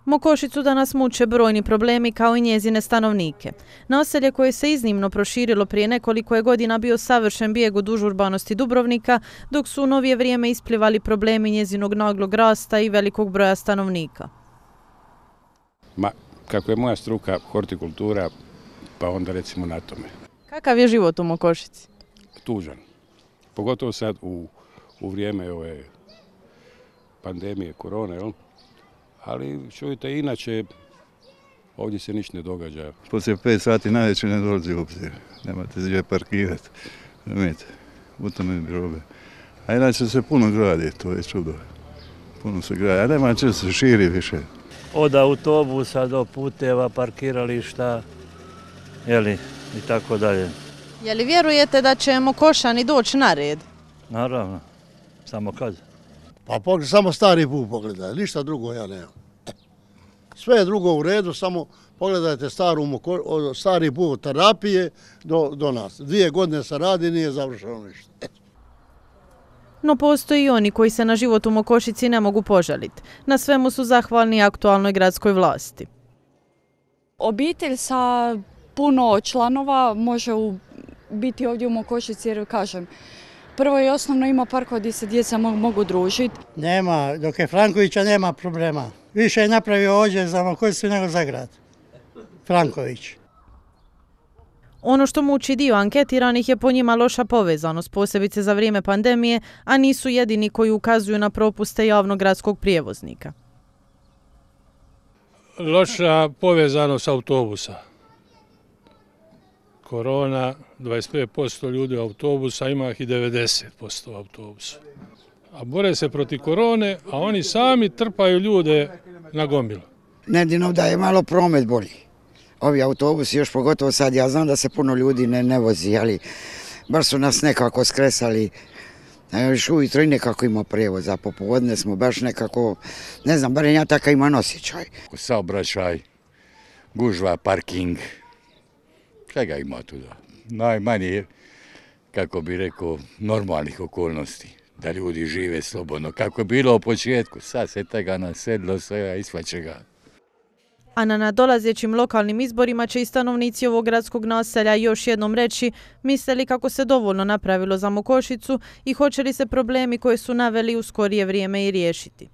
Mokošicu danas muče brojni problemi kao i njezine stanovnike. Naselje koje se iznimno proširilo prije nekoliko je godina bio savršen bijeg od užurbanosti Dubrovnika, dok su u novije vrijeme isplivali problemi njezinog naglog rasta i velikog broja stanovnika. Kako je moja struka hortikultura, pa onda recimo na tome. Kakav je život u Mokošici? Tužan. Pogotovo sad u vrijeme ove pandemije korone, jel? Ali čujte, inače ovdje se ništa ne događa. Poslije 5 sati najveće ne dolazi u obzir. Nemate gdje parkirati. U tome bi robe. A inače se puno gradi, to je čudo. Puno se gradi, a nema če se širi više. Od autobusa do puteva, parkirališta, i tako dalje. Je li vjerujete da će Mokošani doći na red? Naravno, samo kad? Pa samo stari put pogledaj, ništa drugo ja nemam. Sve je drugo u redu, samo pogledajte stari put terapije do nas. 2 godine se radi, nije završeno ništa. No postoji i oni koji se na život u Mokošici ne mogu požaliti. Na svemu su zahvalni aktualnoj gradskoj vlasti. Obitelj sa puno članova može biti ovdje u Mokošici jer kažem, prvo i osnovno ima parkova gdje se djeca mogu družiti. Nema, dok je Frankovića nema problema. Više je napravio ovdje za Mokošicu nego za grad. Franković. Ono što muči dio anketiranih je po njima loša povezanost, posebice za vrijeme pandemije, a nisu jedini koji ukazuju na propuste javnog gradskog prijevoznika. Loša povezanost autobusa. Korona, 25% ljudi u autobusa, ima ih i 90% u autobusu. A bore se protiv korone, a oni sami trpaju ljude na gomilu. Jedino da je malo promet bolji. Ovi autobusi, još pogotovo sad, ja znam da se puno ljudi ne vozi, ali baš su nas nekako skresali. Još ujutro i nekako ima prijevoz, a popodne smo baš nekako, ne znam, barem ja takav imam osjećaj. Saobraćaj, gužva, parking, svega ima tu da. Najmanje, kako bi rekao, normalnih okolnosti, da ljudi žive slobodno. Kako je bilo u početku, sad se tega nasedlo sve, isvaće ga. A na nadolazećim lokalnim izborima će i stanovnici ovog gradskog naselja još jednom reći misle li kako se dovoljno napravilo za Mokošicu i hoće li se problemi koje su naveli u skorije vrijeme i riješiti.